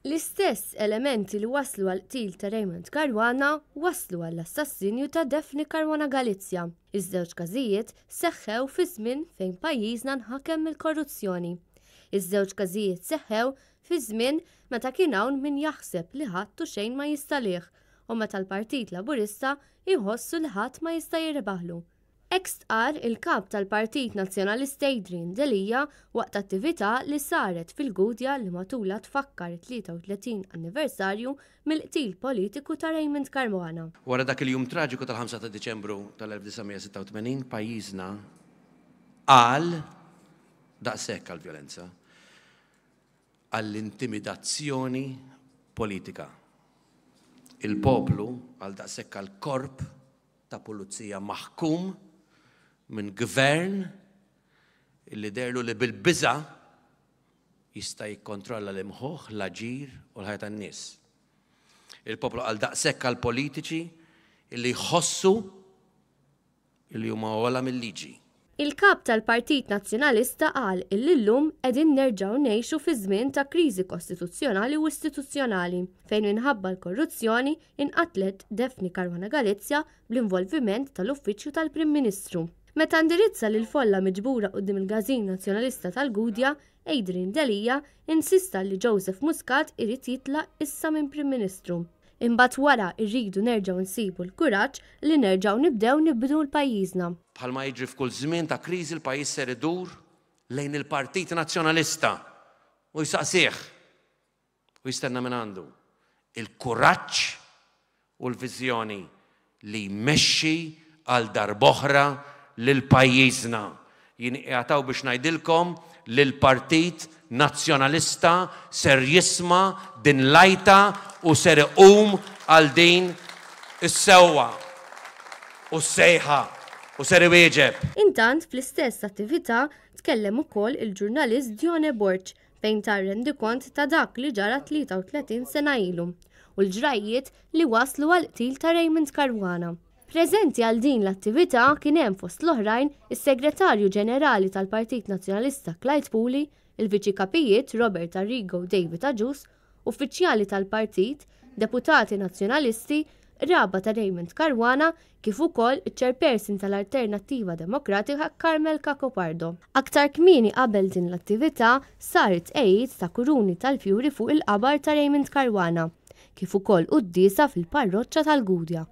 L-istess elementi li wasslu għall-qtil ta' Raymond Caruana wasslu għall-assassinju ta' Daphne Caruana Galizia. Iż-żewġ każijiet seħħew fi żmien fejn pajjiżna nħakem mill-korruzzjoni. Iż-żewġ każijiet seħħew fi żmien meta kien hawn min jaħseb li ħadd u xejn ma jista' għalih u meta l-Partit Laburista jħossu li ħadd ma jista' jirbaħlu. Hekk stqarr il-Kap tal-Partit Nazzjonalista Adrian Delia waqt attività li saret fil-Gudja li matulha tfakkar it-33 anniversarju mill-qtil politiku ta' Raymond Caruana. Wara dak il-jum traġiku tal-5 ta' Diċembru tal-1986 pajjiżna qal daqshekk għall-vjolenza, għall-intimidazzjoni politika. Il-poplu qal daqshekk għall-korp ta' pulizija maħkum minn gvern illi deherlu li bil-biża' jista' jikkontrolla l-imħuħ, l-aġir u l-ħajja tan-nies. Il-poplu qal daqshekk għall-politiċi illi jħossu illi huma ogħla mil-liġi. Il-Kap tal-Partit Nazzjonalista qal illi llum qegħdin nerġgħu ngħixu fi żmien ta' kriżi kostituzzjonali u istituzzjonali fejn minħabba l-korruzzjoni inqatlet Daphne Caruana Galizia bl-involviment tal-Uffiċċju tal-Prim Ministru. Meta indirizza lill-folla miġbura quddiem il-Każin Nazzjonalista tal-Gudja, Adrian Delia insista li Joseph Muscat irid jitlaq issa minn Prim Ministru. Imbagħad wara rridu nerġgħu nsibu l-kuraġġ li nerġgħu nibdew nibnu l-pajjiżna. Bħalma jiġri f'kull żmien ta' kriżi l-pajjiż ser idur lejn il-Partit Nazzjonalista u jsaqsih u jistenna mingħandu l-kuraġġ u l-viżjoni li jmexxi għal darb'oħra lil pajjiżna. Jien qiegħed hawn biex ngħidilkom li l-Partit Nazzjonalista ser jisma' din l-għajta u ser iqum għal din is-sewwa u s-sejħa u ser iwieġeb. Intant, fl-istess attività tkellem ukoll il-ġurnalist Dione Borg fejn ta rendikont ta' dak li ġara 33 sena ilu u l-ġrajjiet li wasslu għall-qtil ta' Raymond Caruana. Preżenti għal din l-attività kien hemm fost l-oħrajn is-Segretarju Ġenerali tal-Partit Nazzjonalista Clyde Puli, il-Viċi Kapijiet Robert Arrigo u David Agius, uffiċjali tal-partit, deputati Nazzjonalisti, qraba ta' Raymond Caruana kif ukoll iċ-Chairperson tal-Alternattiva Demokratika Carmel Cacopardo. Aktar kmieni qabel din l-attività sar it-tqegħid ta' kuruni tal-fjuri fuq il-qabar ta' Raymond Caruana, kif ukoll quddiesa fil-Parroċċa tal-Gudja.